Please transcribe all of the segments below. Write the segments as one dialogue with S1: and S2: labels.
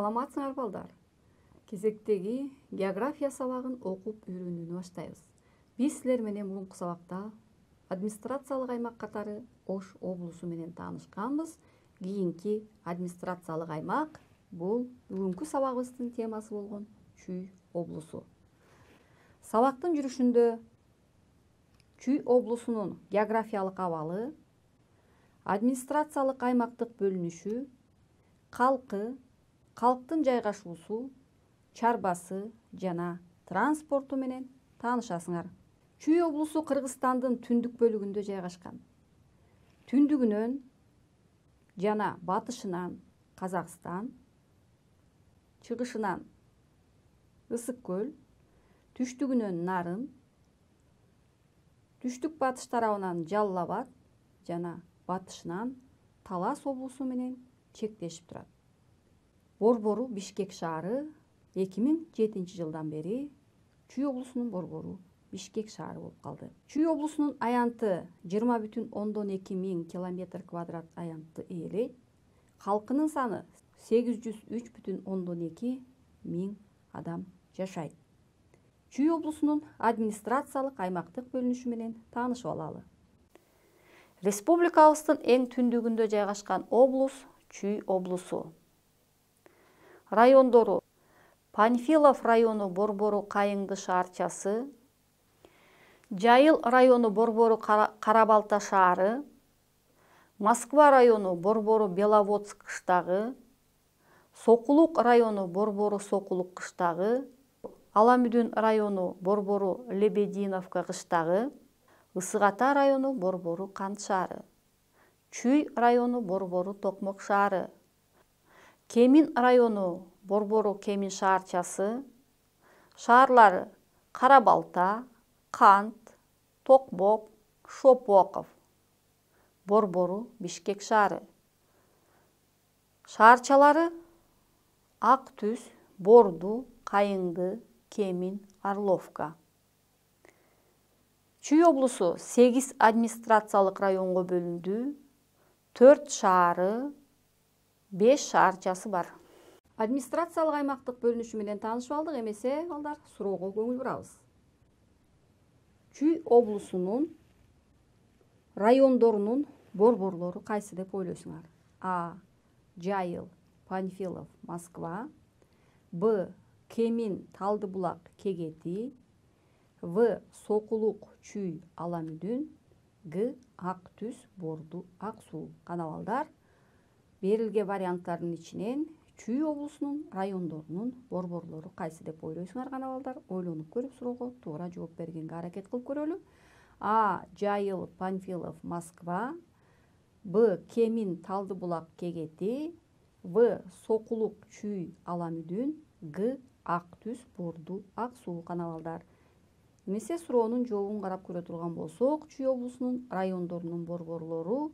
S1: саламатсыңар балдар. Кезектеги география сабагын окуп үйрөнүүнү баштайбыз. Биз силер менен мурунку сабакта администрациялык аймак катары Ош облусу менен таанышканбыз. Кийинки администрациялык аймак бул бүгүнкү сабагыбыздын темасы болгон Чүй облусу. Сабактын жүрүшүндө Чүй облусунун географиялык абалы, администрациялык аймактык бөлүнүшү, калкы, калктын жайгашуусу, чарбасы жана транспорту менен таанышасыңар. Чүй облусу Кыргызстандын түндүк бөлүгүндө жайгашкан. Түндүгүнөн жана батышынан Казакстан, чыгышынан Ысык көл, түштүгүнөн Нарын, түштүк батыш тарабынан Жалал Абад жана батышынан Талас облусу менен чектешип турат. Борбору Бишкек шаары 2007 жылдан бери Чүй облусунун борбору Бишкек шаары болуп калды. Чүй облусунун аянты 20,2 миң километр квадрат аянтты ээлейт. Калкынын саны 803,2 миң адам жашайт. Чүй облусунун администрациялык аймактык бөлүнүшү менен таанышып алалы. Республикабыздын эң түндүгүндө жайгашкан облус Чүй облусу. Райондору: Панфилов району борбору Кайыңды шаарчасы, Жайыл району борбору Карабалта шаары, Москва району борбору Беловодск кыштагы, Сокулук району борбору Сокулук кыштагы, Аламүдүн району борбору Лебединовка кыштагы, Ысык Ата району борбору Кант шаары, Чүй району борбору Токмок шаары, Кемин району борбору Кемин шаарчасы, шаарлары: Карабалта, Кант, Токмок, Шопоков, борбору Бишкек шаары. Шаарчалары: Ак Түз, Борду, Кайыңды, Кемин, Орловка. Чүй облусу 8 администрациялык районго бөлүндү. 4 шаары, 5 шаарчасы бар. Администрациялык аймактык бөлүнүшү менен таанышып алдык. Эмесе балдар, суроого көңүл бурабыз. Чүй облусунун райондорунун борборлору кайсы деп ойлойсуңар? А. Жайыл, Панфилов, Москва. Б. Кемин, Талдыбулак, Кегети. В. Сокулук, Чүй, Аламүдүн. Г. Ак Түз, Борду, Ак Суу. Кана балдар, берилген варианттардын ичинен Чүй облусунун райондорунун борборлору кайсы деп ойлойсуңар? Кана балдар, ойлонуп көрүп суроого туура жооп бергенге аракет кылып көрөлү. А. Жайыл, Панфилов, Москва. Б. Кемин, Талдыбулак, Кегети. В. Сокулук, Чүй, Аламүдүн. Г. Ак Түз, Борду, Ак Суу. Кана балдар, эмесе суроонун жообун карап көрө турган болсок, Чүй облусунун райондорунун борборлору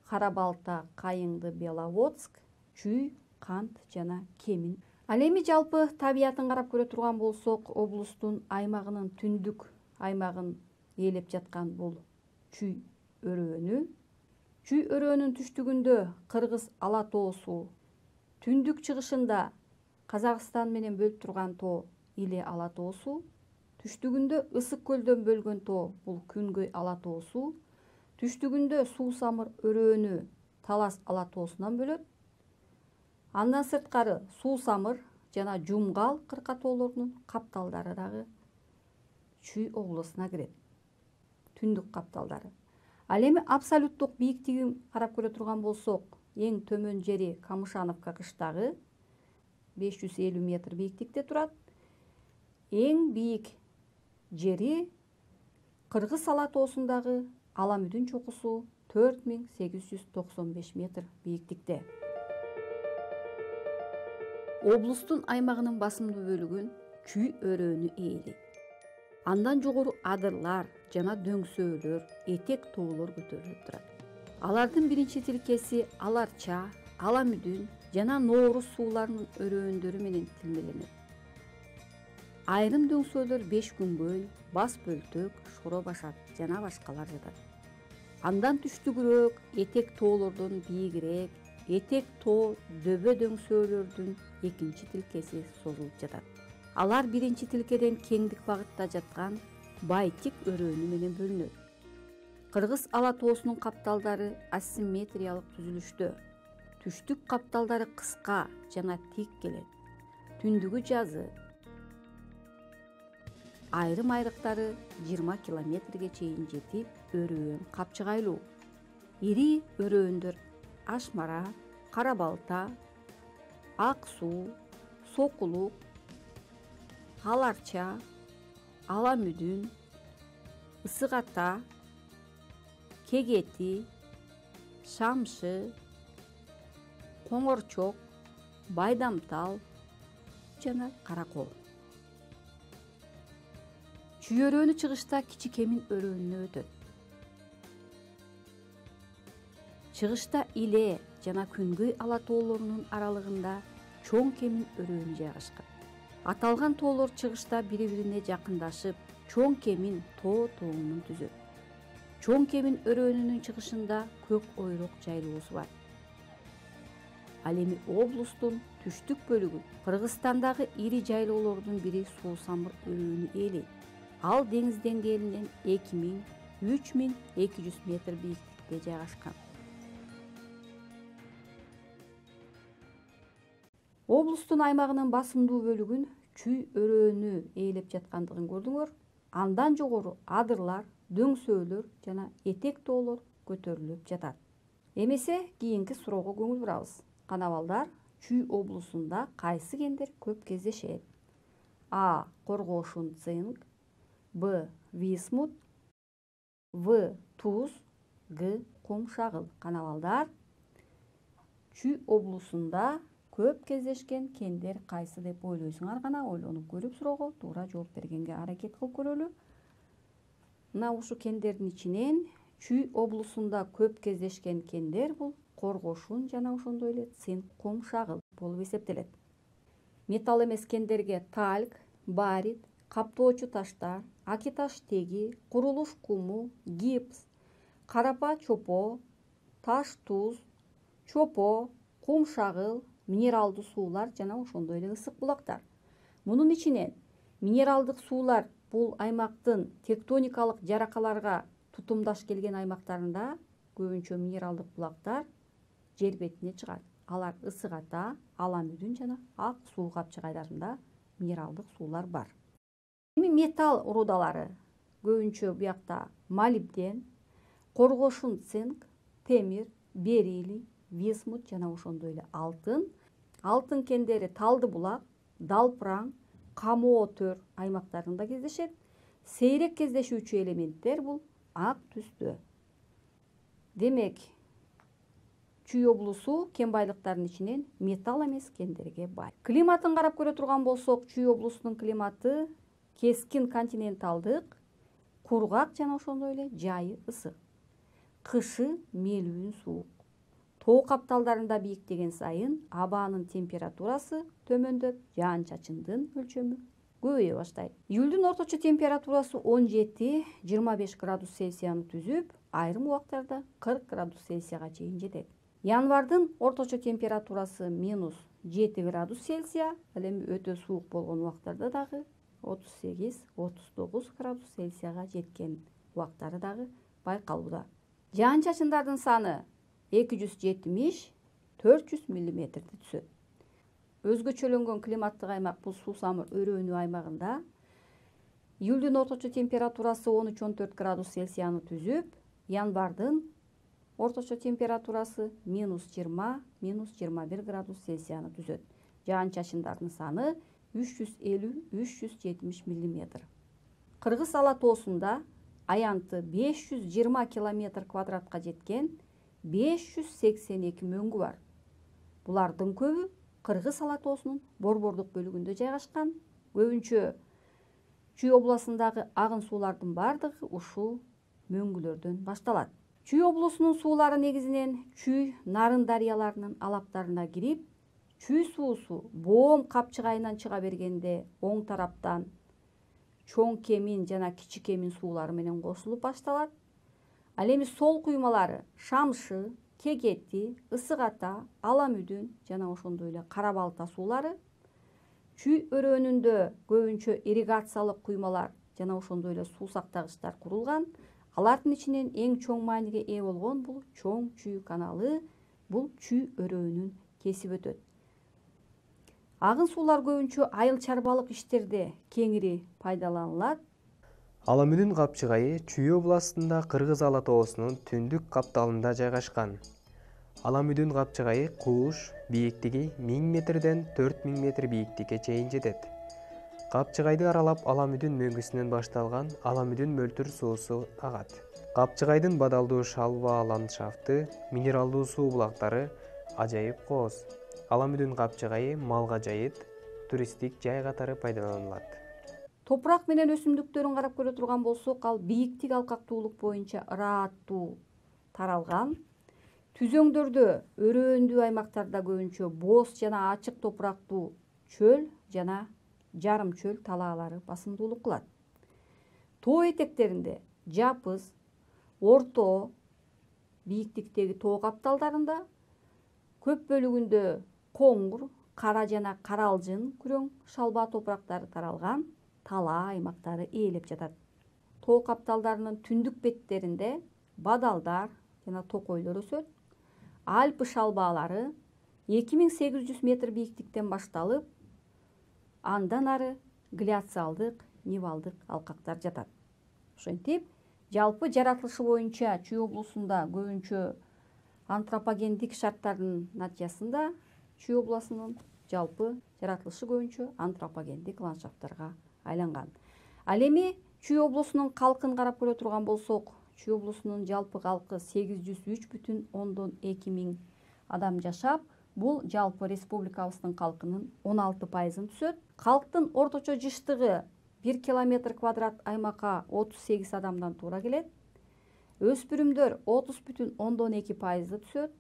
S1: Карабалта, Кайыңды, Беловодск, Чүй, Кант жана Кемин. Ал эми жалпы табиятын карап көрө турган болсок, облустун аймагынын түндүк аймагын ээлеп жаткан бул Чүй өрөөнү. Чүй өрөөнүнүн түштүгүндө Кыргыз Ала тоосу, түндүк чыгышында Казакстан менен бөлүп турган тоо Иле Ала тоосу, түштүгүндө Ысык көлдөн бөлгөн тоо бул Күнгөй Ала тоосу, түштүгүндө Суу Самыр өрөөнү Талас Ала тоосунан бөлөт. Андан сырткары Суу Самыр жана Жумгал кырка тоолорунун капталдары дагы Чүй облусуна кирет. Түндүк капталдары. Ал эми абсолюттук бийиктигин карап көрө турган болсок, эң төмөн жери Камышановка кыштагы 550 метр бийиктикте турат. Эң бийик жери Кыргыз Ала тоосундагы Аламүдүн чокусу 4895 метр бийиктикте. Облустун аймагынын басымдуу бөлүгүн Чүй өрөөнү ээлейт. Андан жогору адырлар жана дөңсөөлөр, этек тоолор көтөрүлүп турат. Алардын биринчи тилкеси Аларча, Аламүдүн жана Нооруз сууларынын өрөөндөрү менен тилмеленет. Айрым дөңсөөлөр Бешкүнгөй, Бас Бөлтөк, Шоро Башат жана башкалар жатат. Андан түштүгүрөөк, этек тоолордон бийигирээк этек тоо дөбө дөңсөөлөрдүн экинчи тилкеси созулуп жатат. Алар биринчи тилкеден кеңдик багытта жаткан байтик өрөөнү менен бөлүнөт. Кыргыз ала тоосунун капталдары асимметриялык түзүлүштө. Түштүк капталдары кыска жана тик келет. Түндүгү жазы. Айрым айрыктары 20 километрге чейин жетип, өрөөн капчыгайлуу. Ири өрөөөндөр Ашмара, Кара балта, Ак суу, Сокулук, Аларча, Ала мүдүн, Ысык ата, Кегети, Шамшы, Коңорчок, Байдамтал жана Каракол. Чүй өрөөнү чыгышта Кичи Кемин өрөөнүнө өтөт. Чыгышта Иле жана Күнгөй ала тоолорунун аралыгында Чоң Кемин өрөөнү жайгашкан. Аталган тоолор чыгышта бири-бирине жакындашып, Чоң Кемин тоо тоонун түзөт. Чоң Кемин өрөөнүнүн чыгышында Көк ойрок жайлоосу бар. Ал эми облустун түштүк бөлүгү Кыргызстандагы ири жайлоолордун бири Суусамыр өрөөнү ээлейт. Ал деңиз деңгээлинен 2000–3200 метр бийиктикте жайгашкан. Облустун аймагынын басымдуу бөлүгүн чүй өрөөнү ээлеп жаткандыгын көрдүңөр. Андан жогору адырлар, дөңсөөлөр жана этек тоолор көтөрүлүп жатат. Эмесе кийинки суроого көңүл бурабыз. Канабалдар, Чүй облусунда кайсы кендер көп кездешет? А. Коргошун цинк, Б. Висмут, В. Туз, Г. Кумшагыл. Канабалдар, Чүй облусунда көп кездешкен кендер кайсы деп ойлойсуңар? Гана ойлонуп көрүп суроого туура жооп бергенге аракет кылып көрөлү. Мына ушу кендердин ичинен Чүй облусунда көп кездешкен кендер бул коргошун жана ошондой эле цинк кумшагыл болуп эсептелет. Металл эмес кендерге тальк, барит, каптоочу таштар, акиташ теги, курулуш куму, гипс, карапа чопо, таш туз, чопо, кумшагыл, минералдуу суулар жана ошондой эле ысык булактар. Мунун ичинен минералдык суулар бул аймактын тектоникалык жаракаларга тутумдаш келген аймактарында көбүнчө минералдык булактар жер бетине чыгат. Алар Ысык ата, Ала мүдүн жана Ак суу капчыгайларында минералдык суулар бар. Эми металл рудалары көбүнчө буякта молибден, коргошун цинк, темир, бериллий, висмут жана ошондой эле алтын. Алтын кендери Талды булак, Далпыраң, Камоо төр аймактарында кездешет. Сейрек кездешүүчү элементтер бул ак түстө. Демек, Чүй облусу кен байлыктарынын ичинен металл эмес кендерге бай. Климатын карап көрө турган болсок, Чүй облусунун климаты кескин континенталдык, кургак жана ошондой эле жайы ысык. Кышы мелүүн суук. Тоо капталдарында бийиктеген сайын абанын температурасы төмөндөп, жаан-чачындын өлчөмү көбөйө баштайт. Июлдун орточо температурасы 17–25 градус Цельсияны түзүп, айрым убактарда 40 градус Цельсияга чейин жетет. Январдын орточо температурасы -7 градус Цельсия, ал эми өтө суук болгон убактарда дагы 38–39 градус Цельсияга жеткен убактары дагы байкалууда. Жаан-чачындардын саны 270–400 мм түзөт. Өзгөчөлөнгөн климаттык аймак бул Суусамыр өрөөнү аймагында. Июлдун орточо температурасы 13–14 градус Цельсияны түзүп, январдын орточо температурасы -20–21 градус Цельсияны түзөт. Жаан-чачындардын саны 350–370 мм. Кыргыз ала тоосунда аянты 520 км квадратка жеткен 582 мөңгү бар. Булардын көбү Кыргыз ала тоосунун борбордук бөлүгүндө жайгашкан. Көбүнчө Чүй облусундагы агын суулардын бардыгы ушул мөңгүлөрдөн башталат. Чүй облусунун суулары негизинен Чүй, Нарын дарыяларынын алаптарына кирип, Чүй суусу Боом капчыгайынан чыга бергенде оң тараптан Чоң Кемин жана Кичи Кемин суулары менен кошулуп башталат. Ал эми сол куймалары Шамшы, Кегети, Ысык Ата, Аламүдүн жана ошондой эле Кара Балта суулары. Чүй өрөөнүндө көбүнчө ирригациялык куймалар жана ошондой эле суу сактагычтар курулган. Алардын ичинен эң чоң мааниге ээ болгон бул Чоң Чүй каналы. Бул чүй өрөөнүн кесип өтөт. Агын суулар көбүнчө айыл чарбалык иштерде кеңири пайдаланылат.
S2: Аламүдүн капчыгайы Чүй областында Кыргыз Ала тоосунун түндүк капталында жайгашкан. Аламүдүн капчыгайы кууш, бийиктиги 1000 метрден 4000 метр бийиктикке чейин жетет. Капчыгайды аралап Аламүдүн мөңгүсүнөн башталган Аламүдүн мөлтүр суусу агат. Капчыгайдын бадалдуу шалба ландшафты, минералдуу суу булактары ажайып кооз. Аламүдүн капчыгайы малга жайыт, туристтик жай катары пайдаланылат.
S1: Топурак менен өсүмдүктөрүн карап көрө турган болсок, ал бийиктик алкактуулук боюнча ырааттуу таралган. Түзөңдөрдө өрөөндүү аймактарда көбүнчө бооз жана ачык топурактуу чөл жана жарым чөл талаалары басымдуулук кылат. Тоо этектеринде жапыз, орто бийиктиктеги тоо капталдарында көп бөлүгүндө коңур, кара жана каралжын күрөң шалба топурактары таралган талаа аймактары ээлеп жатат. Тоо капталдарынын түндүк беттеринде бадалдар жана токойлор өсөт. Альпы шалбаалары 2800 метр бийиктиктен башталып, андан ары гляциалдык, нивалдык алкактар жатат. Ошентип, жалпы жаратылышы боюнча Чүй облусунда көбүнчө антропогендик шарттардын натыйжасында Чүй облусунун жалпы жаратылышы көбүнчө антропогендик ландшафттарга айланган. Ал эми Чүй облусунун калкын карап көрө турган болсок, Чүй облусунун жалпы калкы 803,2 миң адам жашап, бул жалпы республикабыздын калкынын 16%-ын түзөт. Калктын орточо жыштыгы 1 километр квадрат аймакка 38 адамдан туура келет. Өспүрүмдөр 30,2%-ды түзөт.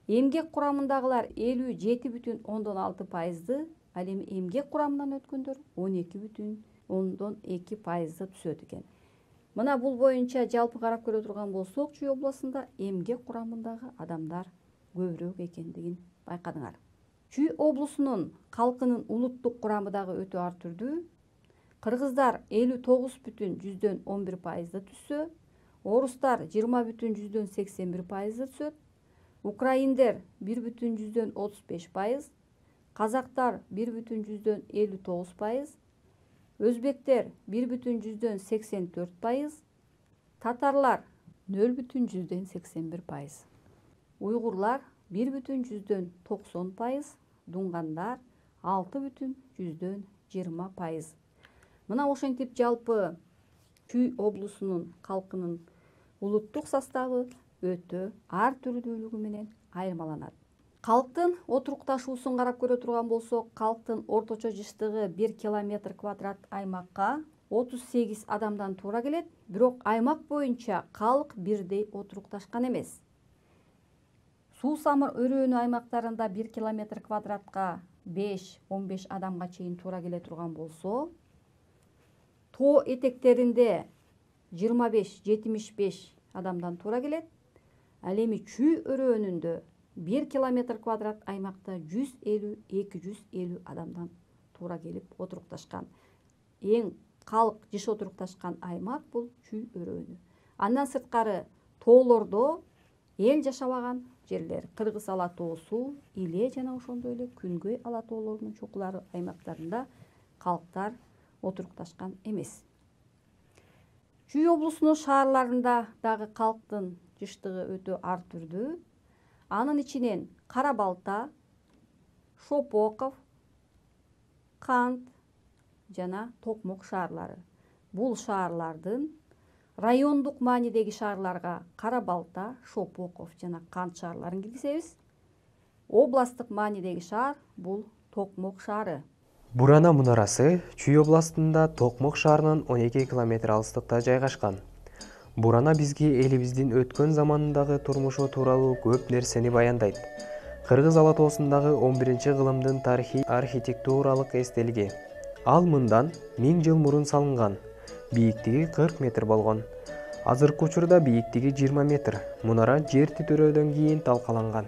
S1: Эмгек курамындагылар 57,6%-ды, ал эми эмгек курамынан өткөндөр 12,2%-ды түзөт экен. Мына бул боюнча жалпы карап көрө турган болсок, Чүй облусунда эмгек курамындагы адамдар көбүрөөк экендигин байкадыңар. Чүй облусунун калкынын улуттук курамы дагы өтө ар түрдүү. Кыргыздар 59,11%-ды түзсө, орустар 20,81%-ды түзөт, украиндер 1,35%, казактар 1,59%, өзбектер 1,84%, татарлар 0,81%, уйгурлар 1,90%, дунгандар 6,20%. Мына ошентип жалпы Чүй облусунун калкынын улуттук составы өтө ар түрдүүлүгү менен айырмаланат. Калктын отурукташуусун карап көрө турган болсок, калктын орточо жыштыгы 1 километр квадрат аймакка 38 адамдан туура келет, бирок аймак боюнча калк бирдей отурукташкан эмес. Суу самыр өрөөнү аймактарында 1 километр квадратка 5-15 адамга чейин туура келе турган болсо, тоо этектеринде 25-75 адамдан туура келет. Ал эми Чүй өрөөнүндө 1 километр квадрат аймакта 150-250 адамдан туура келип отурукташкан. Эң калк жыш отурукташкан аймак бул Чүй өрөөнү. Андан сырткары тоолордо эл жашабаган жерлер Кыргыз Ала тоосу, Иле жана ошондой эле Күнгөй ала тоолорунун чокулары аймактарында калктар отурукташкан эмес. Чүй облусунун шаарларында дагы калктын жыштыгы өтө ар түрдүү. Анын ичинен Кара Балта, Шопоков, Кант жана Токмок шаарлары. Бул шаарлардын райондук маанидеги шаарларга Кара Балта, Шопоков жана Кант шаарларын киргизебиз. Областтык маанидеги шаар бул Токмок шаары.
S2: Бурана мунарасы Чүй областында Токмок шаарынан 12 километр алыстыкта жайгашкан. Бурана бизге элибиздин өткөн заманындагы турмушу тууралуу көп нерсени баяндайт. Кыргыз Ала тоосундагы 11-кылымдын тарыхый архитектуралык эстелиги. Ал мындан 1000 жыл мурун салынган. Бийиктиги 40 метр болгон. Азыркы учурда бийиктиги 20 метр. Мунара жер титирөөдөн кийин талкаланган.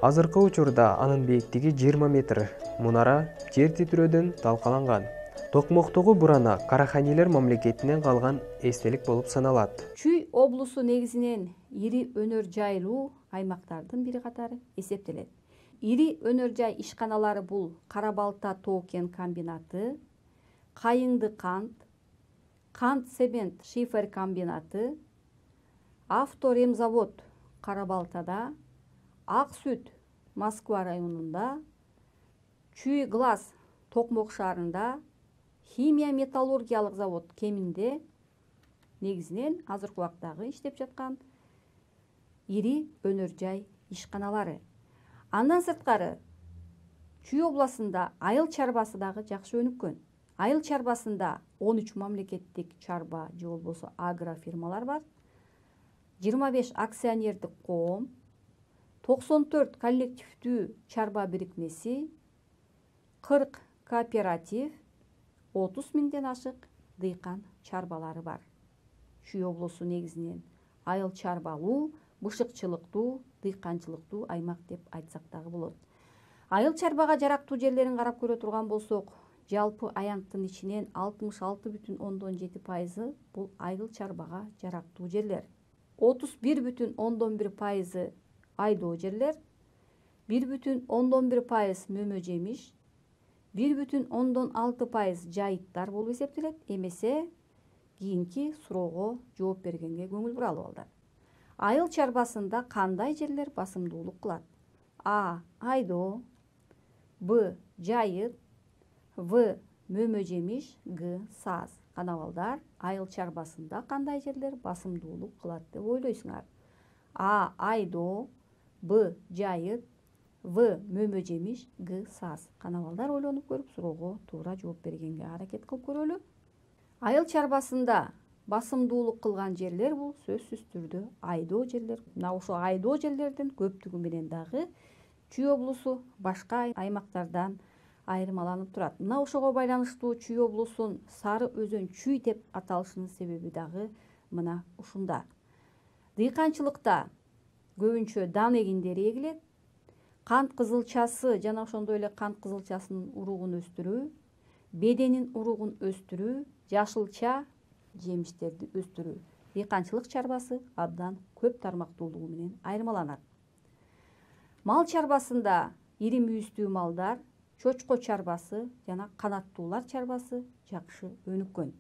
S2: Азыркы учурда анын бийиктиги 20 метр. Мунара жер титирөөдөн талкаланган. Токмоктогу бурана Караханилер мамлекетинен калган эстелик болуп саналат.
S1: Чүй облусу негизинен ири өнөр жайлуу аймактардын бири катары эсептелет. Ири өнөр жай ишканалары бул Кара Балта тоо-кен комбинаты, Кайыңды кант цемент шифер комбинаты, Авторемзавод Кара Балтада, Ак сүт Москва районунда, Чүй глаз Токмок шаарында, Химия металлургиялык завод Кеминде негизинен азыркы убактагы иштеп жаткан ири өнөр жай ишканалары. Андан сырткары Чүй областында айыл чарбасы дагы жакшы өнүккөн. Айыл чарбасында 13 мамлекеттик чарба же болбосо агрофирмалар бар, 25 акционердик коом, 94 коллективдүү чарба бирикмеси, 40 кооператив, 30 миңден ашык дыйкан чарбалары бар. Чүй облусу негизинен айыл чарбалуу, бышыкчылыктуу, дыйканчылыктуу аймак деп айтсак дагы болот. Айыл чарбага жарактуу жерлерин карап көрө турган болсок, жалпы аянттын ичинен 66,7% бул айыл чарбага жарактуу жерлер. 31,1% айдоо жерлер, 1,1% мөмө жемиш, 1,6% жайыттар болуп эсептелет. Эмесе кийинки суроого жооп бергенге көңүл буралы балдар. Айыл чарбасында кандай жерлер басымдуулук кылат? А. Айдоо, Б. Жайыт, В. Мөмө жемиш, Г. Саз. Кана балдар, айыл чарбасында кандай жерлер басымдуулук кылат деп ойлойсуңар? А. Айдоо, Б. Жайыт, В. Мөмө жемиш, Г. Саз. Кана балдар, ойлонуп көрүп суроого туура жооп бергенге аракет кылып көрөлү. Айыл чарбасында басымдуулук кылган жерлер бул сөзсүз түрдө айдоо жерлер. Мына ошо айдоо жерлердин көптүгү менен дагы Чүй облусу башка аймактардан айырмаланып турат. Мына ошого байланыштуу Чүй облусун Сары өзөн Чүй деп аталышынын себеби дагы мына ушунда. Дыйканчылыкта көбүнчө дан эгиндери эгилет. Кант кызылчасы жана ошондой эле кант кызылчасынын уругун өстүрүү, беденин уругун өстүрүү, жашылча жемиштерди өстүрүү. Дыйканчылык чарбасы абдан көп тармактуулугу менен айырмаланат. Мал чарбасында ири мүйүздүү малдар, чочко чарбасы жана канаттуулар чарбасы жакшы өнүккөн.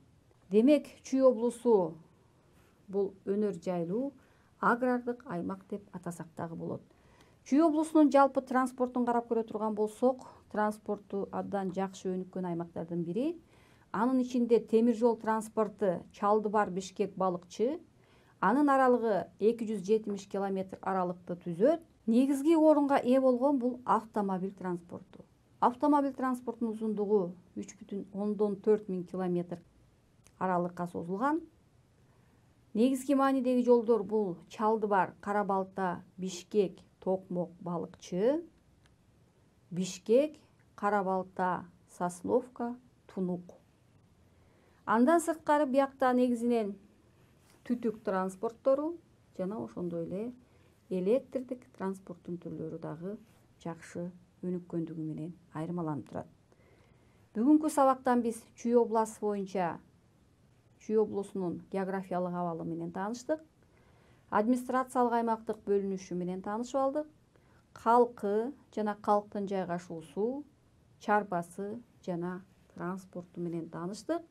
S1: Демек, Чүй облусу бул өнөр жайлуу агрардык аймак деп атасак дагы болот. Чүй облусунун жалпы транспортун карап көрө турган болсок, транспорту абдан жакшы өнүккөн аймактардын бири. Анын ичинде темир жол транспорту Чалдыбар-Бишкек балыкчы, анын аралыгы 270 километр аралыкты түзөт. Негизги орунга ээ болгон бул автомобиль транспорту. Автомобиль транспортунун узундугу 3,4 миң километр аралыкка созулган. Негизги маанидеги жолдор бул Чалдыбар, Кара Балта, Бишкек, Токмок, балыкчы, Бишкек, Кара Балта, Сосновка, Тунук. Андан сырткары биякта негизинен түтүк транспорттору жана ошондой эле электрдик транспорттун түрлөрү дагы жакшы өнүккөндүгү менен айырмаланып турат. Бүгүнкү сабактан биз Чүй областы боюнча Чүй облусунун географиялык абалы менен тааныштык. Администрациялык аймактык бөлүнүшү менен таанышып алдык. Калкы жана калктын жайгашуусу, чарбасы жана транспорту менен тааныштык.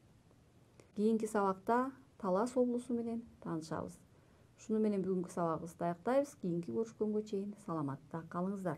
S1: Кийинки сабакта Талас облусу менен таанышабыз. Шуну менен бүгүнкү сабагыбызды аяктайбыз. Кийинки көрүшкөнгө чейин саламатта калыңыздар.